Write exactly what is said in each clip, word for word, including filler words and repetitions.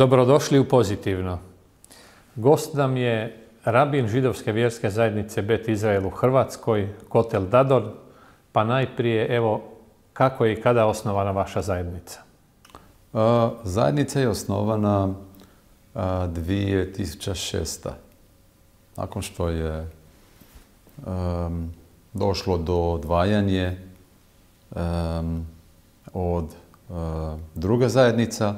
Dobrodošli u Pozitivno. Gost nam je rabin židovske vjerske zajednice Bet Izrael u Hrvatskoj, Kotel Dadon. Pa najprije, evo, kako je i kada osnovana vaša zajednica? A, zajednica je osnovana a, dvije tisuće šeste. Nakon što je a, došlo do odvajanja od a, druge zajednica,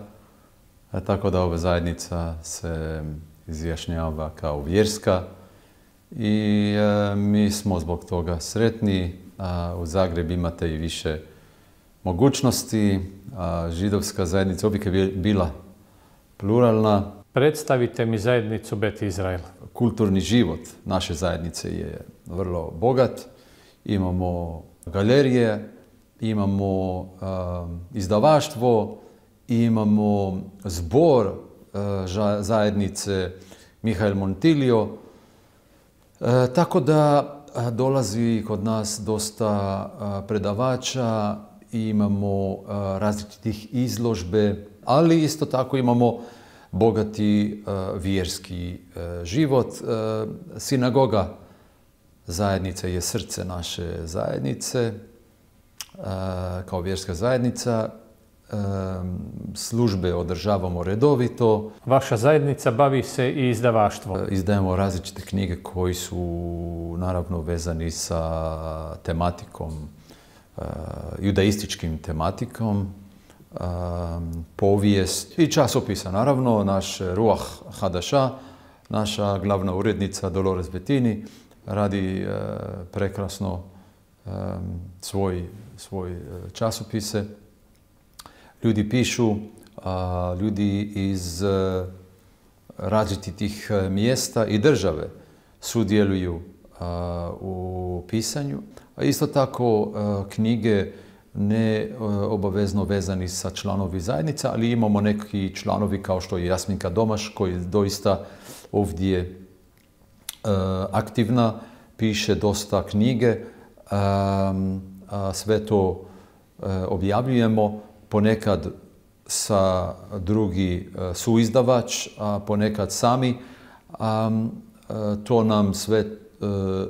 a, tako da ova zajednica se izjašnjava kao vjerska i a, mi smo zbog toga sretni. A, u Zagrebu imate i više mogućnosti. A, židovska zajednica uvijek je bila pluralna. Predstavite mi zajednicu Bet Izrael. Kulturni život naše zajednice je vrlo bogat. Imamo galerije, imamo uh, izdavaštvo, imamo zbor uh, zajednice Mihael Montilio. Uh, tako da uh, dolazi kod nas dosta uh, predavača, imamo uh, različitih izložbe, ali isto tako imamo bogati uh, vjerski uh, život. Uh, sinagoga zajednice je srce naše zajednice, uh, kao vjerska zajednica. Uh, službe održavamo redovito. Vaša zajednica bavi se i izdavaštvom. Uh, izdajemo različite knjige koji su naravno vezani sa tematikom, uh, judaističkim tematikom. Um, povijest i časopisa. Naravno, naš Ruah Hadaša, naša glavna urednica Dolores Bettini radi uh, prekrasno um, svoj, svoj časopise. Ljudi pišu, uh, ljudi iz uh, različitih mjesta i države sudjeluju uh, u pisanju. A isto tako uh, knjige ne obavezno vezani sa članovi zajednica, ali imamo neki članovi kao što je Jasminka Domaš, koji doista ovdje e, aktivna, piše dosta knjige, e, a sve to e, objavljujemo, ponekad sa drugi e, suizdavač, a ponekad sami. A, e, to nam sve e,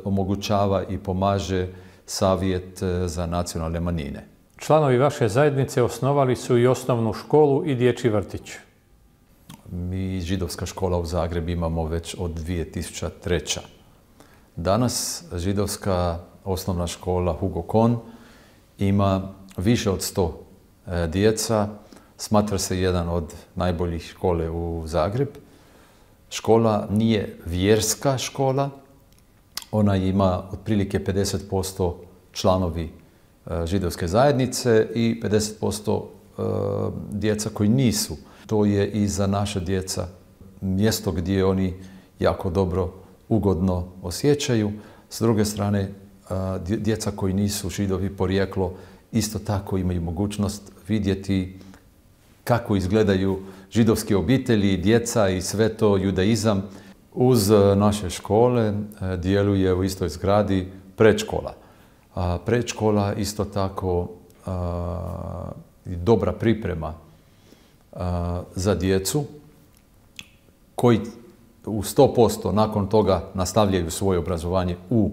omogućava i pomaže Savjet za nacionalne manjine. Članovi vaše zajednice osnovali su i osnovnu školu i dječji vrtić. Mi židovska škola u Zagrebu imamo već od dvije tisuće treće. Danas židovska osnovna škola Hugo Kohn ima više od sto djeca. Smatra se jedan od najboljih škole u Zagreb. Škola nije vjerska škola. Ona ima otprilike pedeset posto članovi židovske zajednice i pedeset posto djeca koji nisu. To je i za naše djeca mjesto gdje oni jako dobro, ugodno osjećaju. S druge strane, djeca koji nisu židovi porijeklo isto tako imaju mogućnost vidjeti kako izgledaju židovske obitelji, djeca i sve to judaizam. Uz naše škole djeluje u istoj zgradi predškola. A predškola isto tako a, dobra priprema a, za djecu koji u sto posto nakon toga nastavljaju svoje obrazovanje u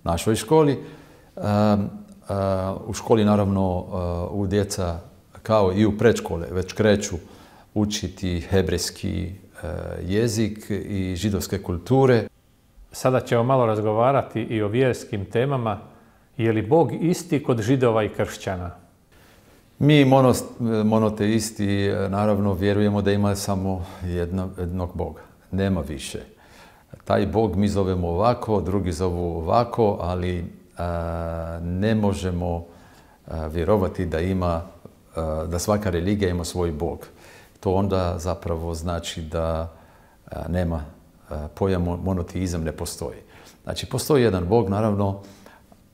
našoj školi. A, a, u školi naravno a, u djeca kao i u predškole već kreću učiti hebrejski a, jezik i židovske kulture. Sada ćemo malo razgovarati i o vjerskim temama. Je li Bog isti kod židova i kršćana? Mi monoteisti naravno vjerujemo da ima samo jedno, jednog Boga. Nema više. Taj Bog mi zovemo ovako, drugi zovu ovako, ali a, ne možemo a, vjerovati da ima, a, da svaka religija ima svoj Bog. To onda zapravo znači da a, nema a, pojam monoteizam ne postoji. Znači postoji jedan Bog, naravno,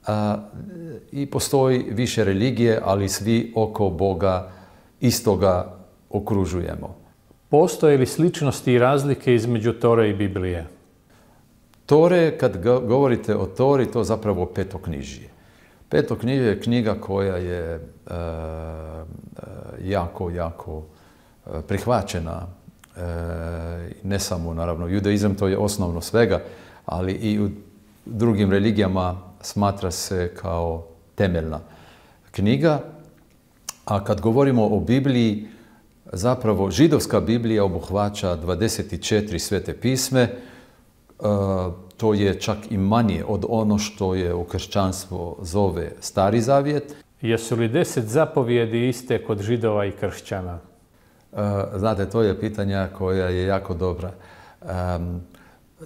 A, i postoji više religije, ali svi oko Boga istoga okružujemo. Postoje li sličnosti i razlike između Tore i Biblije? Tore, kad govorite o Tori, to zapravo petoknjižje. Petoknjižje je knjiga koja je uh, jako, jako prihvaćena ne samo, naravno, judaizam to je osnovno svega, ali i u drugim religijama smatra se kao temeljna knjiga. A kad govorimo o Bibliji, zapravo židovska Biblija obuhvaća dvadeset četiri svete pisme. To je čak i manje od ono što je u kršćanstvu zove Stari zavjet. Jesu li deset zapovjedi iste kod židova i kršćana? Znate, to je pitanja koja je jako dobra.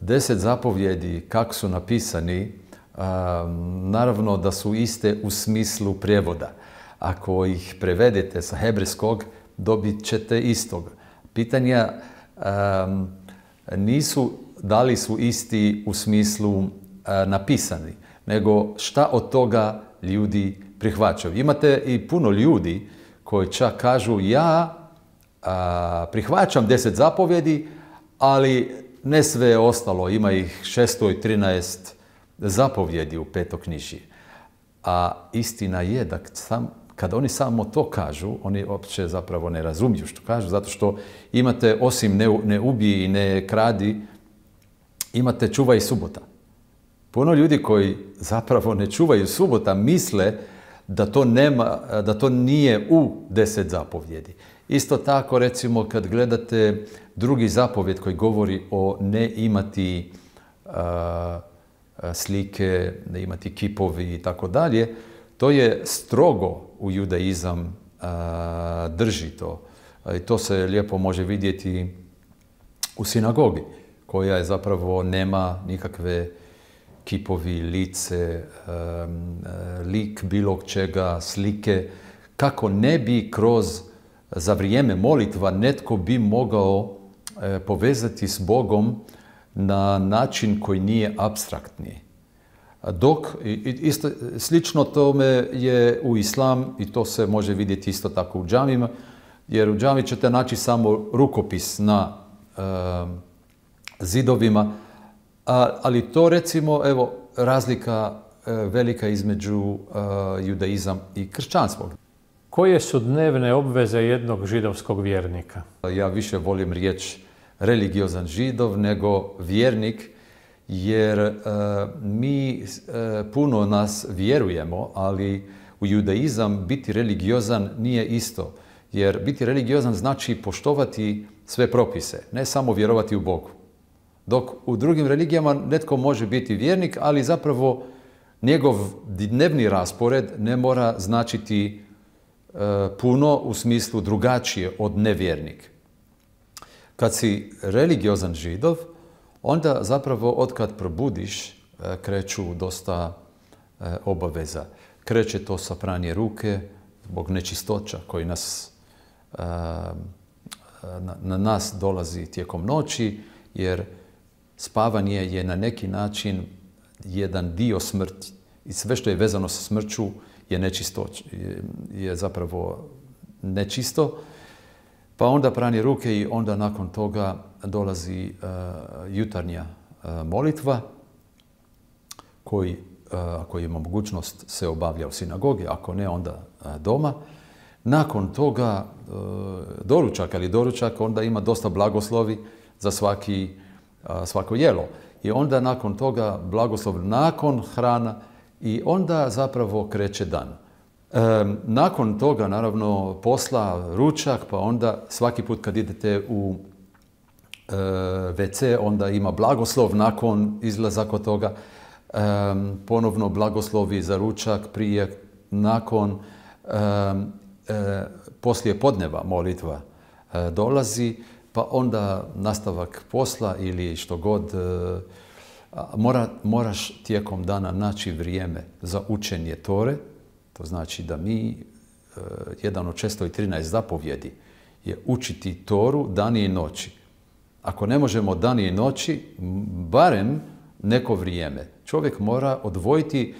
Deset zapovjedi, kako su napisani, naravno da su iste u smislu prijevoda. Ako ih prevedete sa hebrejskog, dobit ćete istog. Pitanja nisu da li su isti u smislu napisani, nego šta od toga ljudi prihvaćaju. Imate i puno ljudi koji čak kažu ja a, prihvaćam deset zapovjedi, ali ne sve ostalo. Ima ih šesto trinaest zapovjedi u petoknjižju. A istina je da sam, kad oni samo to kažu, oni uopće zapravo ne razumiju što kažu, zato što imate osim ne, ne ubij i ne kradi, imate čuvaj subota. Puno ljudi koji zapravo ne čuvaju subota misle da to, nema, da to nije u deset zapovjedi. Isto tako, recimo, kad gledate drugi zapovjed koji govori o ne imati uh, slike, ne imati kipovi i tako dalje, to je strogo u judaizam uh, drži to. I to se lijepo može vidjeti u sinagogi, koja je zapravo nema nikakve kipovi, lice, um, lik bilo čega, slike, kako ne bi kroz za vrijeme molitva netko bi mogao e, povezati s Bogom na način koji nije apstraktni. Dok, isto, slično tome je u islam i to se može vidjeti isto tako u džamima, jer u džami ćete naći samo rukopis na e, zidovima, a, ali to recimo, evo, razlika e, velika između e, judaizam i kršćanstva. Koje su dnevne obveze jednog židovskog vjernika? Ja više volim riječ religiozan židov nego vjernik, jer e, mi e, puno nas vjerujemo, ali u judaizam biti religiozan nije isto. Jer biti religiozan znači poštovati sve propise, ne samo vjerovati u Bogu. Dok u drugim religijama netko može biti vjernik, ali zapravo njegov dnevni raspored ne mora značiti puno u smislu drugačije od nevjernik. Kad si religiozan židov, onda zapravo otkad probudiš kreću dosta obaveza. Kreće to sa pranje ruke zbog nečistoća koji nas, na nas dolazi tijekom noći, jer spavanje je na neki način jedan dio smrti i sve što je vezano sa smrću je nečisto, je zapravo nečisto. Pa onda pranje ruke i onda nakon toga dolazi uh, jutarnja uh, molitva koji, uh, ako ima mogućnost, se obavlja u sinagogi, ako ne, onda uh, doma. Nakon toga uh, doručak, ali doručak onda ima dosta blagoslovi za svaki, uh, svako jelo. I onda nakon toga blagoslov nakon hrana, i onda zapravo kreće dan. E, nakon toga, naravno, posla, ručak, pa onda svaki put kad idete u e, ve ce, onda ima blagoslov nakon izlazaka od toga. E, ponovno blagoslovi za ručak, prije, nakon, e, e, poslije podneva molitva e, dolazi, pa onda nastavak posla ili što god. E, Mora, moraš tijekom dana naći vrijeme za učenje Tore. To znači da mi, jedan od šesto trinaest zapovjedi je učiti Toru dani i noći. Ako ne možemo dani i noći, barem neko vrijeme. Čovjek mora odvojiti.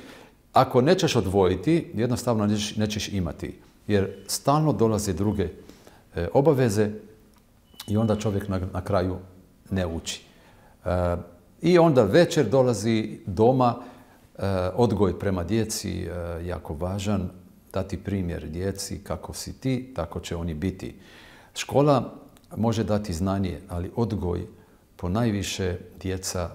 Ako nećeš odvojiti, jednostavno nećeš, nećeš imati. Jer stalno dolaze druge obaveze i onda čovjek na, na kraju ne uči. E, I onda večer dolazi doma, e, odgoj prema djeci e, jako važan, dati primjer djeci kako si ti, tako će oni biti. Škola, e, može dati znanje, ali odgoj ponajviše djeca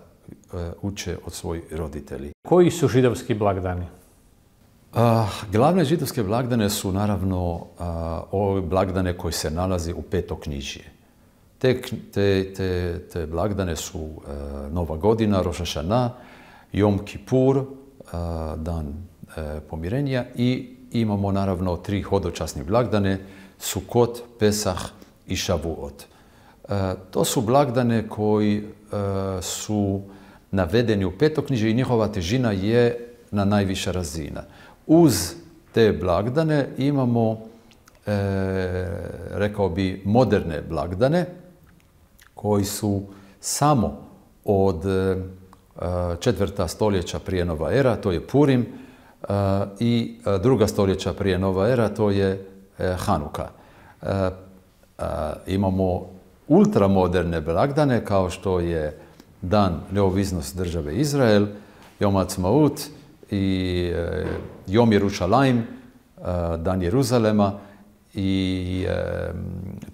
uče od svojih roditelji. Koji su židovski blagdani? A, glavne židovske blagdane su naravno a, ove blagdane koji se nalazi u Petoknjižje. Te, te, te, te blagdane su a, Nova godina, Roš hašana, Jom Kipur, a, dan a, pomirenja i imamo naravno tri hodočasne blagdane, Sukot, Pesah i Šavuot. A, to su blagdane koji a, su navedeni u Petoknjižje i njihova težina je na najviša razina. Uz te blagdane imamo, e, rekao bi, moderne blagdane koji su samo od e, četvrta stoljeća prije nova era, to je Purim, e, i druga stoljeća prije nova era, to je e, Hanuka. E, e, imamo ultramoderne blagdane kao što je Dan neovisnosti države Izrael, Jom Ha'atzmaut i e, Jom Jerušalajm, e, Dan Jeruzalema i e,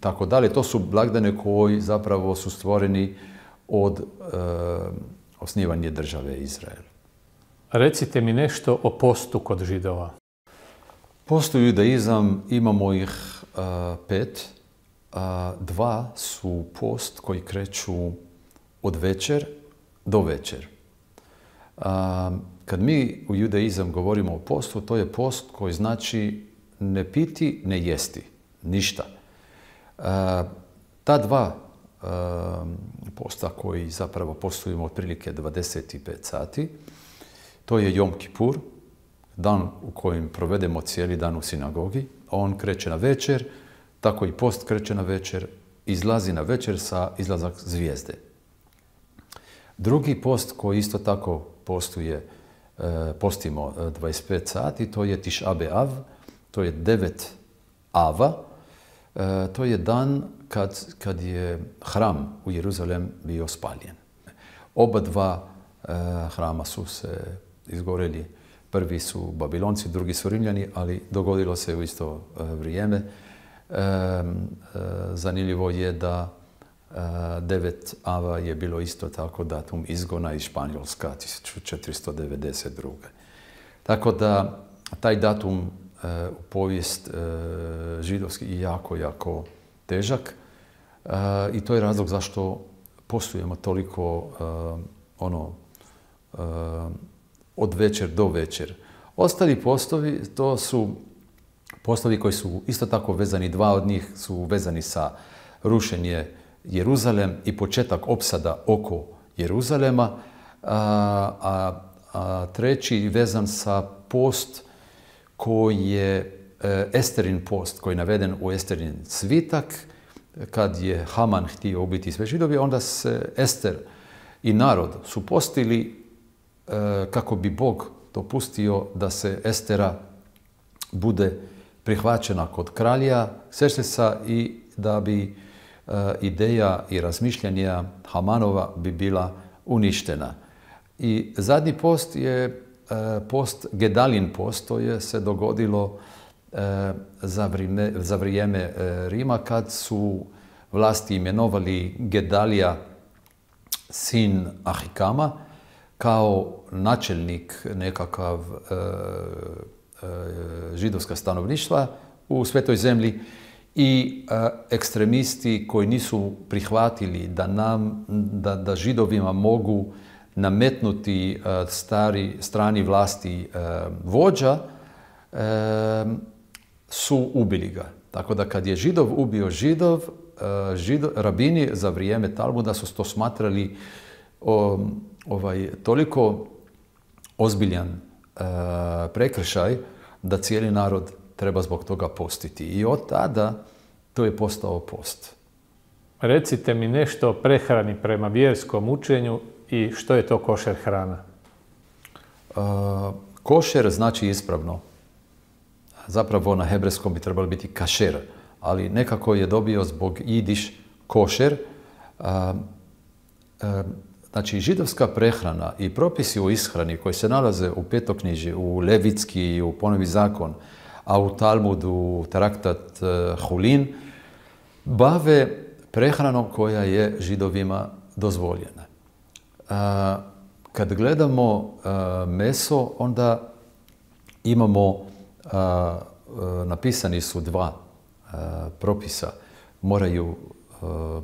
tako dalje. To su blagdane koji zapravo su stvoreni od e, osnivanja države Izrael. Recite mi nešto o postu kod Židova. Postu judaizam imamo ih e, pet. E, dva su post koji kreću od večer do večer. A, kad mi u judaizam govorimo o postu, to je post koji znači ne piti, ne jesti. Ništa. A, ta dva a, posta koji zapravo postujemo otprilike dvadeset pet sati, to je Jom Kipur, dan u kojem provedemo cijeli dan u sinagogi. On kreće na večer, tako i post kreće na večer, izlazi na večer sa izlazak zvijezde. Drugi post koji isto tako postuje, postimo dvadeset pet sati, to je Tiš'a B'Av, to je devet ava. To je dan kad, kad je hram u Jeruzalem bio spaljen. Oba dva hrama su se izgoreli. Prvi su Babilonci, drugi su Rimljani, ali dogodilo se u isto vrijeme. Zanimljivo je da devet ava je bilo isto tako datum izgona iz Španjolska tisuću četiristo devedeset druge. Tako da taj datum e, u povijest e, židovski je jako, jako težak e, i to je razlog zašto postujemo toliko e, ono e, od večer do večer. Ostali postovi, to su postovi koji su isto tako vezani, dva od njih su vezani sa rušenje Jeruzalem i početak opsada oko Jeruzalema, a, a, a treći vezan sa post koji je e, Esterin post, koji je naveden u Esterin svitak. Kad je Haman htio ubiti sve Židovi, onda se Ester i narod su postili e, kako bi Bog dopustio da se Estera bude prihvaćena kod kralja Kserksesa i da bi ideja i razmišljanja Hamanova bi bila uništena. I zadnji post je post, Gedalin post, to je se dogodilo za vrijeme, za vrijeme Rima kad su vlasti imenovali Gedalija, sin Ahikama, kao načelnik nekakav e, e, židovska stanovništva u Svetoj zemlji. I e, ekstremisti koji nisu prihvatili da, nam, da, da židovima mogu nametnuti e, stari, strani vlasti e, vođa, e, su ubili ga. Tako da kad je židov ubio židov, e, židov rabini za vrijeme Talmuda su to smatrali o, ovaj, toliko ozbiljan e, prekršaj da cijeli narod treba zbog toga postiti. I od tada to je postao post. Recite mi nešto o prehrani prema vjerskom učenju i što je to košer hrana? Uh, košer znači ispravno. Zapravo na hebrejskom bi trebalo biti kašer, ali nekako je dobio zbog jidiš košer. Uh, uh, znači židovska prehrana i propisi o ishrani koji se nalaze u Petoknjižju, u Levitski i u Ponovi zakon, a u Talmudu, traktat uh, Hulin, bave prehranom koja je Židovima dozvoljena. A, kad gledamo a, meso, onda imamo, a, a, napisani su dva a, propisa. Moraju, a,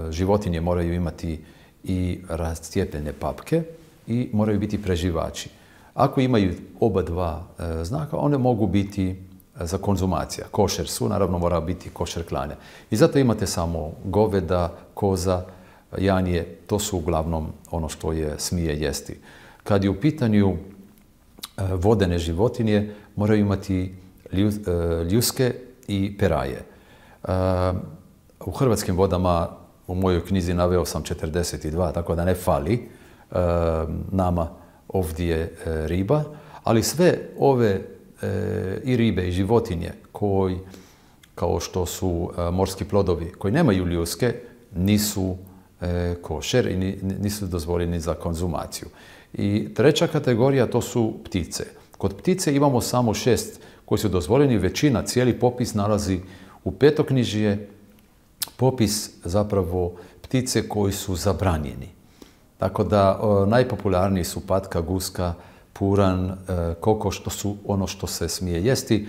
životinje moraju imati i rascijepljene papke i moraju biti preživači. Ako imaju oba dva a, znaka, one mogu biti za konzumacija. Košer su, naravno mora biti košer klanja. I zato imate samo goveda, koza, janje, to su uglavnom ono što je smije jesti. Kad je u pitanju vodene životinje, moraju imati ljuske i peraje. U hrvatskim vodama, u mojoj knjizi naveo sam četrdeset dva, tako da ne fali nama ovdje riba, ali sve ove i ribe i životinje koji, kao što su morski plodovi koji nemaju ljuske, nisu košer i nisu dozvoljeni za konzumaciju. I treća kategorija to su ptice. Kod ptice imamo samo šest koji su dozvoljeni, većina, cijeli popis nalazi u petoknjižje, popis zapravo ptice koji su zabranjeni. Tako da najpopularniji su patka, guska, puran, kokoš, to su ono što se smije jesti,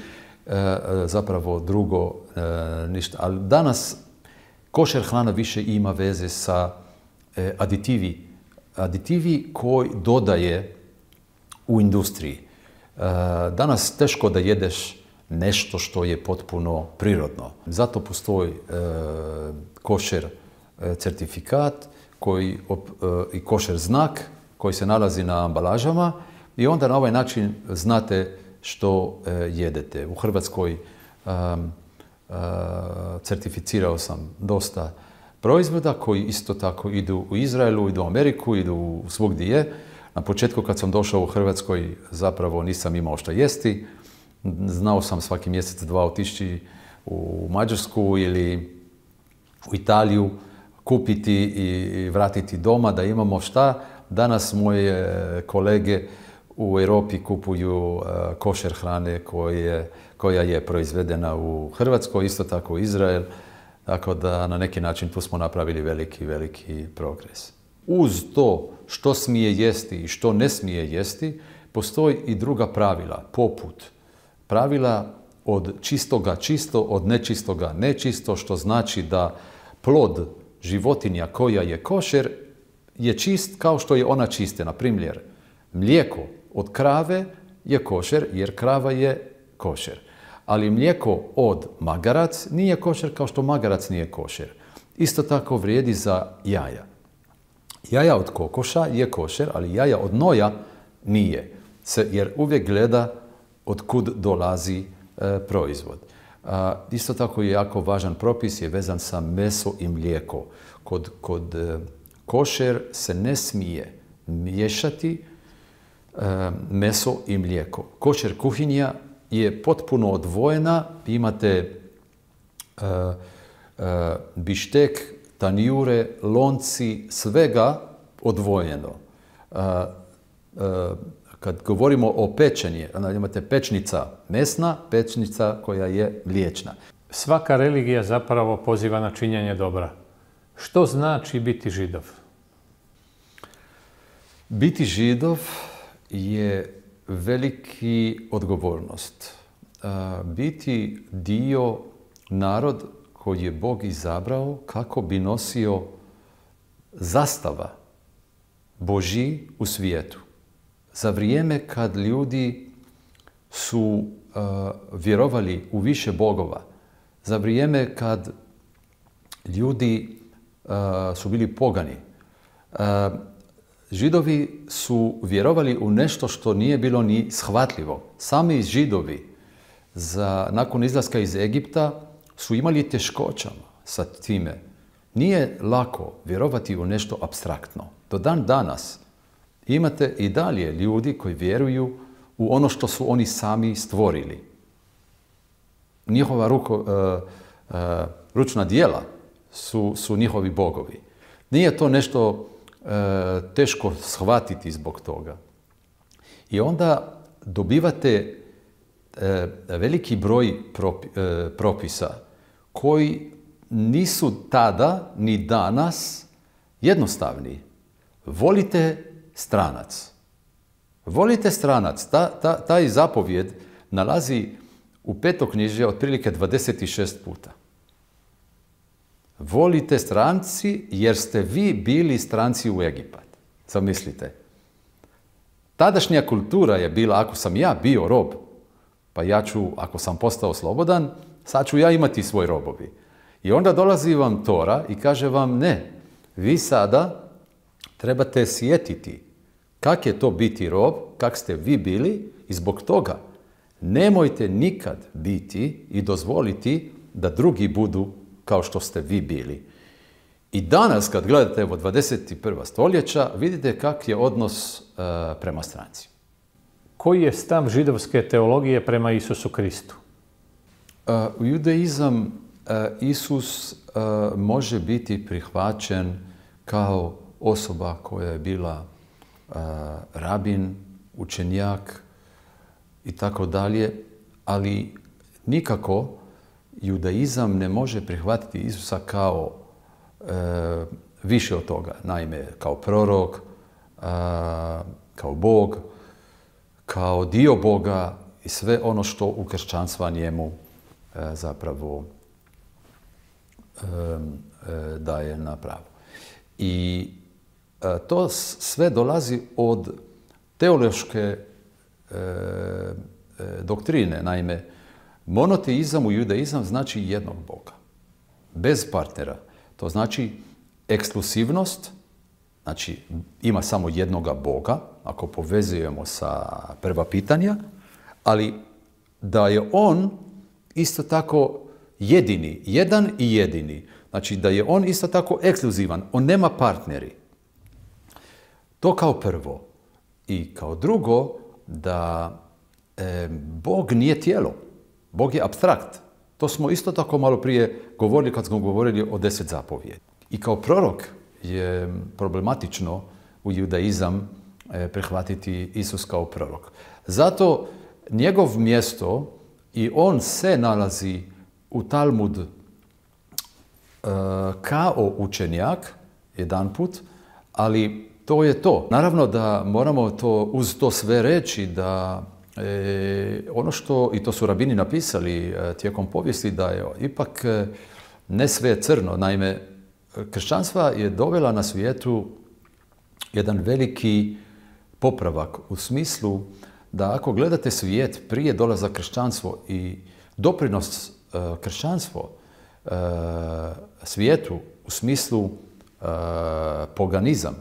zapravo drugo ništa. Ali danas košer hrana više ima veze sa aditivi. Aditivi koji dodaje u industriji. Danas teško da jedeš nešto što je potpuno prirodno. Zato postoji košer certifikat koji, i košer znak koji se nalazi na ambalažama i onda na ovaj način znate što jedete. U Hrvatskoj um, uh, certificirao sam dosta proizvoda koji isto tako idu u Izraelu, idu u Ameriku, idu svugdje je. Na početku kad sam došao u Hrvatskoj zapravo nisam imao što jesti. Znao sam svaki mjesec dva otići u Mađarsku ili u Italiju, kupiti i vratiti doma da imamo šta. Danas moje kolege u Europi kupuju košer hrane koje, koja je proizvedena u Hrvatskoj, isto tako u Izrael. Tako da na neki način tu smo napravili veliki, veliki progres. Uz to što smije jesti i što ne smije jesti, postoji i druga pravila, poput pravila od čistoga čisto, od nečistoga nečisto, što znači da plod životinja koja je košer je čist kao što je ona čiste. Na primjer, mlijeko od krave je košer jer krava je košer. Ali mlijeko od magarac nije košer kao što magarac nije košer. Isto tako vrijedi za jaja. Jaja od kokoša je košer, ali jaja od noja nije. Jer uvijek gleda od kud dolazi e, proizvod. A, isto tako je jako važan propis je vezan sa meso i mlijeko. Kod, kod e, košer se ne smije miješati e, meso i mlijeko. Košer kuhinja je potpuno odvojena. Imate e, e, bištek, tanjure, lonci, svega odvojeno. E, e, Kad govorimo o pečenju, onda imate pečnica mesna, pečnica koja je mliječna. Svaka religija zapravo poziva na činjenje dobra. Što znači biti Židov? Biti Židov je veliki odgovornost. Biti dio narod koji je Bog izabrao kako bi nosio zastava Božji u svijetu. Za vrijeme kad ljudi su uh, vjerovali u više bogova, za vrijeme kad ljudi uh, su bili pogani, uh, Židovi su vjerovali u nešto što nije bilo ni shvatljivo. Sami Židovi za, nakon izlaska iz Egipta su imali teškoćama sa time. Nije lako vjerovati u nešto apstraktno. Do dan danas imate i dalje ljudi koji vjeruju u ono što su oni sami stvorili. Njihova ruko, uh, uh, ručna djela su, su njihovi bogovi. Nije to nešto uh, teško shvatiti zbog toga. I onda dobivate uh, veliki broj propi, uh, propisa koji nisu tada ni danas jednostavni. Volite stranac. Volite stranac. Ta, ta, taj zapovjed nalazi u petoknjižju otprilike dvadeset šest puta. Volite stranci jer ste vi bili stranci u Egipat. Zamislite. Tadašnja kultura je bila, ako sam ja bio rob, pa ja ću, ako sam postao slobodan, sad ću ja imati svoj robovi. I onda dolazi vam Tora i kaže vam ne, vi sada trebate sjetiti kak je to biti rob, kak ste vi bili i zbog toga nemojte nikad biti i dozvoliti da drugi budu kao što ste vi bili. I danas kad gledate evo dvadeset prva stoljeća, vidite kak je odnos uh, prema stranci. Koji je stav židovske teologije prema Isusu Kristu? Uh, u judaizam uh, Isus uh, može biti prihvaćen kao osoba koja je bila uh, rabin, učenjak i tako dalje, ali nikako judaizam ne može prihvatiti Isusa kao e, više od toga. Naime, kao prorok, a, kao Bog, kao dio Boga i sve ono što u kršćanstva njemu e, zapravo e, e, daje na pravo. I e, to sve dolazi od teološke e, e, doktrine. Naime, monoteizam u judaizam znači jednog Boga, bez partnera. To znači ekskluzivnost, znači ima samo jednoga Boga, ako povezujemo sa prva pitanja, ali da je on isto tako jedini, jedan i jedini. Znači da je on isto tako ekskluzivan, on nema partneri. To kao prvo. I kao drugo, da e, Bog nije tijelo. Bog je apstrakt. To smo isto tako malo prije govorili kad smo govorili o deset zapovjedi. I kao prorok je problematično u judaizam e, prihvatiti Isus kao prorok. Zato njegov mjesto i on se nalazi u Talmud e, kao učenjak, jedan put, ali to je to. Naravno da moramo to uz to sve reći da E, ono što, i to su rabini napisali e, tijekom povijesti, da je ipak e, ne sve crno. Naime, kršćanstva je dovela na svijetu jedan veliki popravak u smislu da ako gledate svijet prije dolaza kršćanstvo i doprinos e, kršćanstvo e, svijetu u smislu e, poganizam,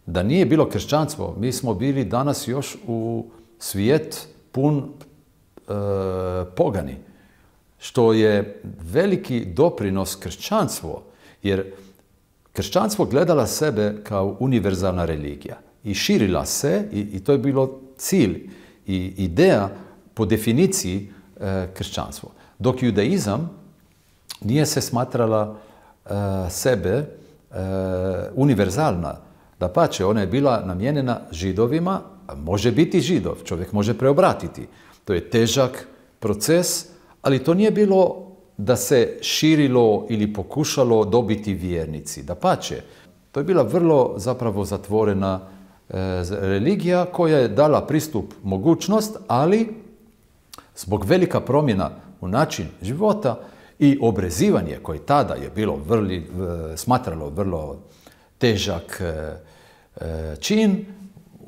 da nije bilo kršćanstvo, mi smo bili danas još u svijet pun e, pogani, što je veliki doprinos kršćanstvo, jer kršćanstvo gledala sebe kao univerzalna religija i širila se i, i to je bilo cilj i ideja po definiciji e, kršćanstvo. Dok judaizam nije se smatrala e, sebe e, univerzalna, dapače, ona je bila namijenjena Židovima. Može biti Židov, čovjek može preobratiti. To je težak proces, ali to nije bilo da se širilo ili pokušalo dobiti vjernici. Dapače, to je bila vrlo zapravo zatvorena e, religija koja je dala pristup mogućnost, ali zbog velika promjena u način života i obrezivanje koje tada je bilo vrli, smatralo vrlo težak e, e, čin,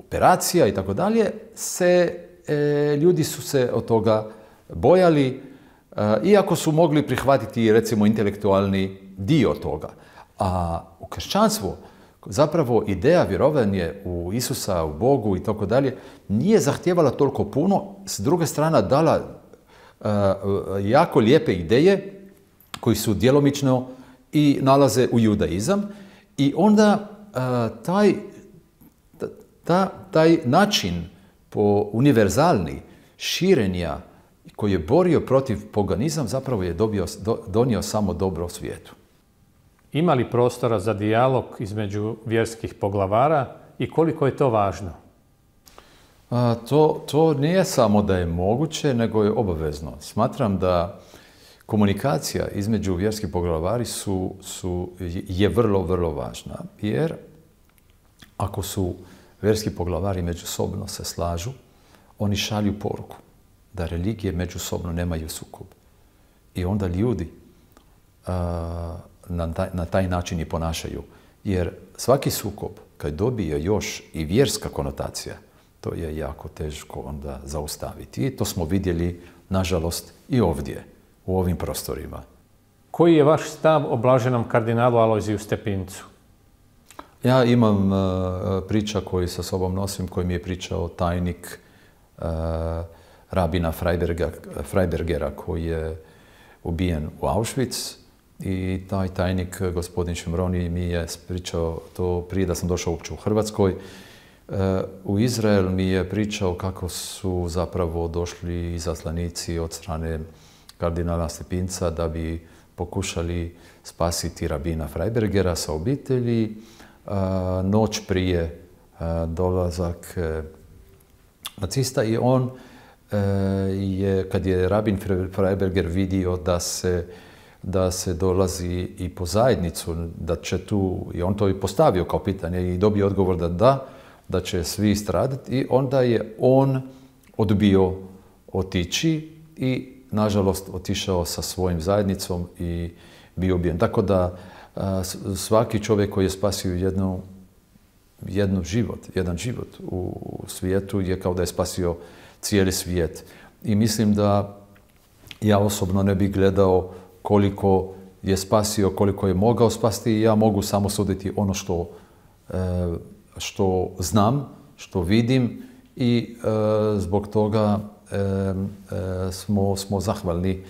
operacija i tako dalje, se e, ljudi su se od toga bojali, e, iako su mogli prihvatiti recimo intelektualni dio toga. A u kršćanstvu zapravo ideja vjerovanja u Isusa, u Bogu i tako dalje nije zahtijevala toliko puno, s druge strane dala e, jako lijepe ideje koji su djelomično i nalaze u judaizam i onda e, taj Ta, taj način po univerzalni širenja koji je borio protiv poganizam zapravo je dobio, do, donio samo dobro svijetu. Ima li prostora za dijalog između vjerskih poglavara i koliko je to važno? A, to, to nije samo da je moguće, nego je obavezno. Smatram da komunikacija između vjerskih poglavari su, su, je vrlo, vrlo važna. Jer ako su vjerski poglavari međusobno se slažu, oni šalju poruku da religije međusobno nemaju sukob. I onda ljudi a, na, taj, na taj način i ponašaju. Jer svaki sukob, kad dobije još i vjerska konotacija, to je jako teško onda zaustaviti. I to smo vidjeli, nažalost, i ovdje, u ovim prostorima. Koji je vaš stav o blaženom kardinalu Alojziju Stepincu? Ja imam uh, priča koju sa sobom nosim, koji mi je pričao tajnik uh, rabina Freiberga, Freibergera, koji je ubijen u Auschwitz. I taj tajnik, gospodin Šimroni, mi je pričao to prije da sam došao uopće u Hrvatskoj. Uh, u Izrael mi je pričao kako su zapravo došli izaslanici od strane kardinala Stepinca da bi pokušali spasiti rabina Freibergera sa obitelji. Uh, noć prije uh, dolazak uh, nacista i on uh, je, kad je rabin Freiberger vidio da se, da se dolazi i po zajednicu, da će tu, i on to i postavio kao pitanje i dobio odgovor da da, da će svi stradati i onda je on odbio otići i nažalost otišao sa svojim zajednicom i bio ubijen. Tako da svaki čovjek koji je spasio jednu, jednu život, jedan život u svijetu je kao da je spasio cijeli svijet. I mislim da ja osobno ne bih gledao koliko je spasio, koliko je mogao spasti i ja mogu samo suditi ono što, što znam, što vidim i zbog toga smo, smo zahvalni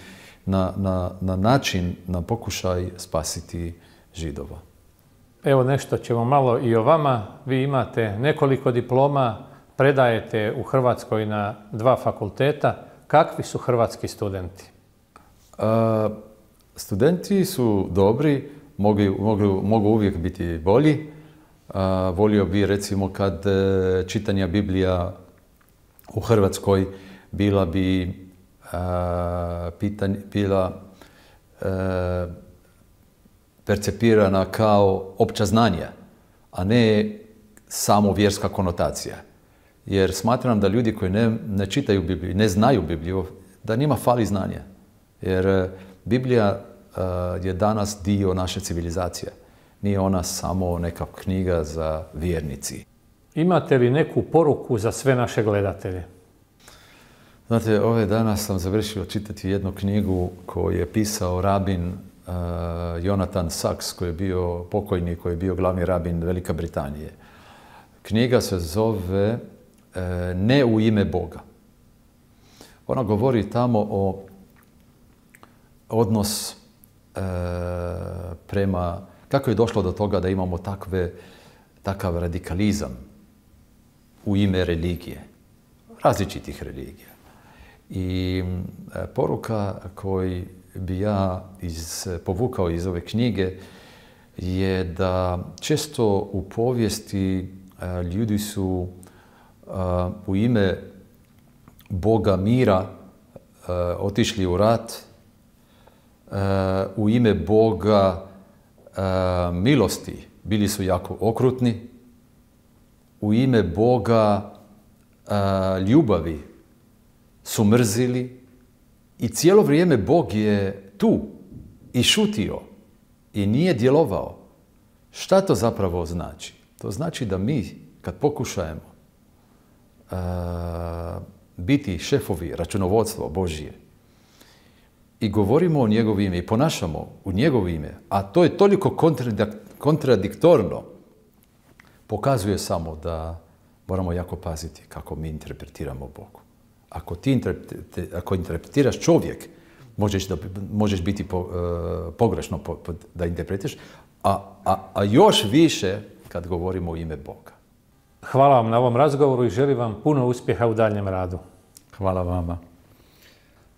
na, na, na način, na pokušaj spasiti Židova. Evo nešto ćemo malo i o vama. Vi imate nekoliko diploma, predajete u Hrvatskoj na dva fakulteta. Kakvi su hrvatski studenti? A, studenti su dobri, mogu, mogu, mogu uvijek biti bolji. A, volio bi recimo kad e, čitanja Biblija u Hrvatskoj bila bi a, pitanje, bila e, percepirana kao opća znanja, a ne samo vjerska konotacija. Jer smatram da ljudi koji ne, ne čitaju Bibliju, ne znaju Bibliju, da njima fali znanja. Jer Biblija uh, je danas dio naše civilizacije. Nije ona samo neka knjiga za vjernici. Imate li neku poruku za sve naše gledatelje? Znate, ove dana sam završio čitati jednu knjigu koju je pisao rabin uh, Jonathan Sacks, koji je bio pokojni, koji je bio glavni rabin Velike Britanije. Knjiga se zove uh, Ne u ime Boga. Ona govori tamo o odnos uh, prema, kako je došlo do toga da imamo takve, takav radikalizam u ime religije, različitih religija. I uh, poruka koju bi ja iz, povukao iz ove knjige je da često u povijesti uh, ljudi su uh, u ime Boga mira uh, otišli u rat, uh, u ime Boga uh, milosti bili su jako okrutni, u ime Boga uh, ljubavi su mrzili i cijelo vrijeme Bog je tu i šutio i nije djelovao. Šta to zapravo znači? To znači da mi, kad pokušajemo uh, biti šefovi računovodstva Božije i govorimo o njegovo ime i ponašamo u njegovo ime, a to je toliko kontradiktorno, pokazuje samo da moramo jako paziti kako mi interpretiramo Bogu. Ako ti interpreti, ako interpretiraš čovjek, možeš, da, možeš biti po, uh, pogrešno po, po, da interpretiraš, a, a, a još više kad govorimo o ime Boga. Hvala vam na ovom razgovoru i želim vam puno uspjeha u daljnjem radu. Hvala vama.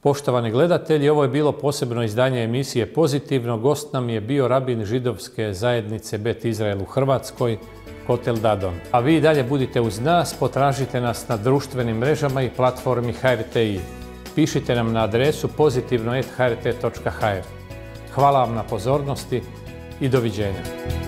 Poštovani gledatelji, ovo je bilo posebno izdanje emisije Pozitivno. Gost nam je bio rabin židovske zajednice Bet Izrael u Hrvatskoj, Kotel Dadon. A vi dalje budite uz nas, potražite nas na društvenim mrežama i platformi H R T I. pišite nam na adresu pozitivno et ha er te točka ha er. Hvala vam na pozornosti i doviđenja.